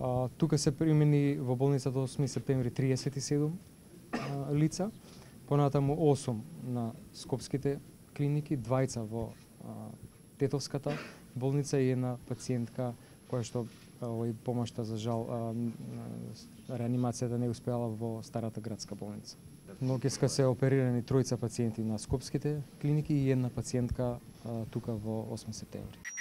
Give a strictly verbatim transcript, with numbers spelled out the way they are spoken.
А, тука се примени во болницата осми септември триесет и седум а, лица, понатаму осум на скопските клиники, двајца во а, Тетовската болница и една пациентка која што овој помошта за жал а, реанимацијата не успеала во Старата градска болница. Ноќеска се оперирани тројца пациенти на скопските клиники и една пациентка а, тука во осми септември.